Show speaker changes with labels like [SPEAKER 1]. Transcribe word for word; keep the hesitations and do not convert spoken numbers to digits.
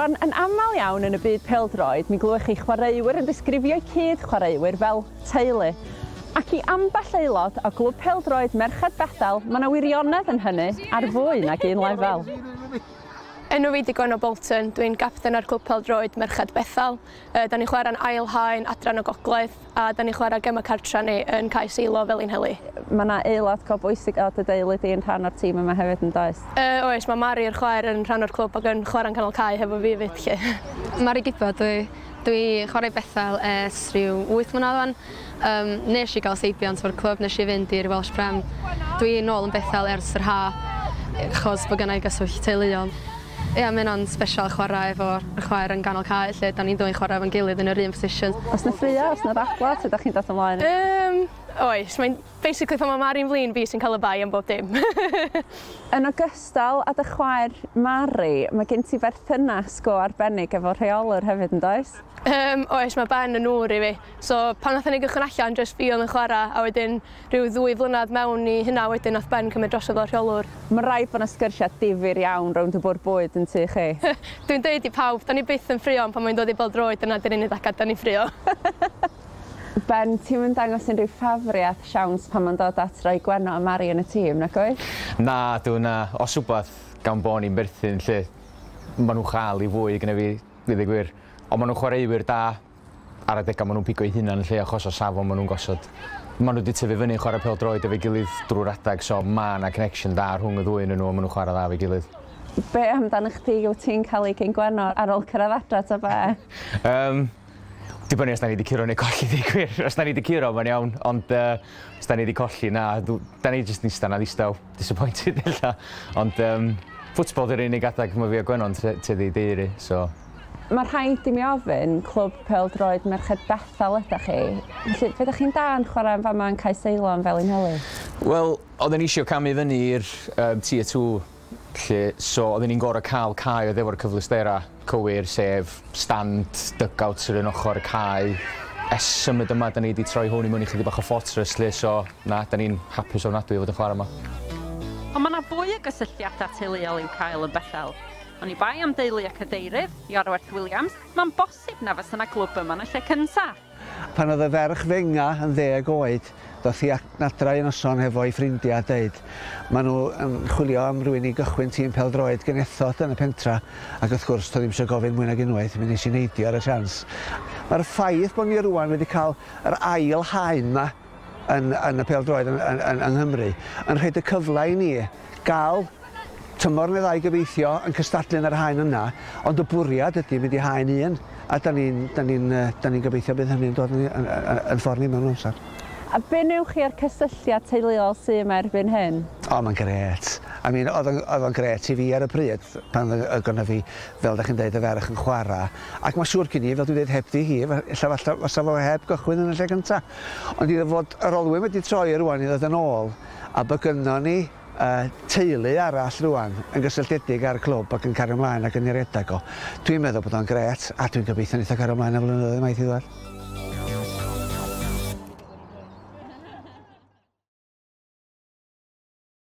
[SPEAKER 1] Rwan, yn aml iawn yn y byd pêl-droed, mi glywch chi chwaraewyr yn disgrifio'u cyd chwaraewyr fel teulu. Ac i ambell aelod o glwb pêl-droed Merched Bethel, mae yna wirionedd yn hynny ar fwy nag un lefel.
[SPEAKER 2] Enw fi 'di Gwenno Bolton, dwi'n gapten ar clwb pêl-droed Merched Bethel. Uh, da ni'n chwarae'n ail haen adran y gogledd a da ni'n chwarae gema cartra ni yn Cae Seilo Felinheli.
[SPEAKER 1] Mae yna aelod go bwysig o dy deulu di yn rhan o'r tîm yma hefyd yn does?
[SPEAKER 2] Uh, oes, mae Mari'r chwaer yn rhan o'r clwb ac yn chwarae'n canol cae hefo fi 'fyd 'lly.
[SPEAKER 3] Mari Gibbard dwi. Dwi chwarae Bethel ers rhyw wyth mlynedd wan. Um, nes i gael seibiant o'r clwb, nes i fynd i'r Welsh Prem. Dwi nôl yn Bethel ers yr ha, achos bod gennai gyswllt teuluol. Ia, mae hynna'n special chwarae efo'r chwaer yn ganol cae, lle da ni'n dwy'n chwarae efo'n gilydd yn yr un position.
[SPEAKER 1] Oes 'na ffrio, oes 'na ddadla, sut ydych chi'n dod ymlaen?
[SPEAKER 2] Um, oes, mae'n basically pan mae Mari'n flin, fi sy'n cael y bai am bob dim.
[SPEAKER 1] Yn ogystal â dy chwaer Mari, mae gen ti berthynas go arbennig efo rheolwr hefyd yn does?
[SPEAKER 2] Um, oes, mae Ben yn ŵr i fi. So pan nathon ni gychwyn allan, jyst fi oedd yn chwarae, a wedyn rhyw ddwy flynedd mewn i hynna wedyn nath Ben cymryd drosodd fel rheolwr.
[SPEAKER 1] Mae rhaid bod yna sgyrsiau difyr iawn rownd y bwrdd bwyd yn tŷ chi.
[SPEAKER 2] Dwi'n deud i pawb, da ni byth yn ffrio, ond pan mae'n dod i bêl-droed, dyna 'di'r unig adeg da ni'n ffrio.
[SPEAKER 1] Ben, ti'n mynd dangos unrhyw ffafriaeth siawns pan mae'n dod at roi Gwenno a Mari yn y tîm, nac oes?
[SPEAKER 4] Na, dwi na. Os wbath gan bo ni'n berthyn lle, maen nhw'n chael i fwy gyda fi, i ddweud gwir. Ond maen nhw'n chwaraewyr da ar adegau maen nhw'n pigo eu hunan lle achos o safon maen nhw'n gosod. Maen nhw wedi tyfu fyny chwarae pêl-droed efo'i gilydd drwy'r adag, so mae yna connection da rhwng y ddwy yn nhw a maen nhw'n chwarae dda efo'i gilydd.
[SPEAKER 1] Be amdano chdi, wyt ti'n cael ei gyn Gwenno ar ôl cyrraedd adra ta be?
[SPEAKER 4] Um, dibynnu os da ni wedi curo neu colli, dweud gwir. Os da ni wedi curo, mae'n iawn, ond uh, os da ni wedi colli, na, da ni jyst yn eistedd na ddistaw, disappointed ella. Ond um, ffwtbol di'r unig adag mae fi a Gwenno'n tueddu i deiri, so.
[SPEAKER 1] Mae rhaid i mi ofyn, clwb pêl-droed Merched Bethel ydych chi. Felly, fe ydych chi'n da yn chwarae yn fama yn Cae Seilo yn Felinheli?
[SPEAKER 4] Wel, oedden ni eisiau camu fyny i'r um, Tier two, lle, so oedden ni'n gorfod cael cae oedd efo'r cyfleusterau cywir, sef stand, dugout sydd yn ochr y cae. Ers symud yma, da ni wedi troi hwn i mewn i chydig bach o fortress, lle, so na, da ni'n hapus ofnadwy i fod yn chwarae yma.
[SPEAKER 5] Ond mae yna fwy o gysylltiadau teuluol i'w cael yn Bethel. Oni bai am deulu y cadeirydd, Iorwerth Williams, mae'n bosib na fysa yna glwb yma yn y lle cynta.
[SPEAKER 6] Pan oedd y ferch fenga yn ddeg oed, doth hi adra un noson hefo'i ffrindiau a deud, maen nhw yn chwilio am rywun i gychwyn tîm pêl-droed genethod yn y pentra, ac wrth gwrs, doedd ddim eisiau gofyn mwy nag unwaith, mi nes i neidio ar y siawns. Mae'r ffaith bod ni rwan wedi cael yr ail haen yma yn, yn y pêl-droed yn, yn, yn, yng Nghymru, yn rhaid y cyfle i ni gael tymor neu ddau gobeithio yn cystadlu yn yr haen yna, ond y bwriad ydy mynd i haen un, a da ni'n da ni da ni gobeithio bydd hynny'n dod yn, yn, yn, yn ffordd ni mewn amser.
[SPEAKER 1] A be newch chi ar cysylltiad teuluol sydd yma erbyn hyn?
[SPEAKER 6] O, mae'n grêt. I mean, oedd o'n grêt i fi ar y pryd, pan oedd gynna fi, fel da chi'n dweud, y ferch yn chwarae. Ac mae siŵr gen i, fel dwi'n dweud, heb di hi, ella falle fysa fo heb gychwyn yn y lle cynta. Ond iddo fod yr olwyn wedi troi rwan i ddod yn ôl, a bod gynnon ni uh, teulu arall rwan yn gysylltiedig â'r clwb ac yn cario ymlaen ac yn ei redag o. Dwi'n meddwl bod o'n grêt, a dwi'n gobeithio neith o cario ymlaen am flynyddoedd maith i ddod.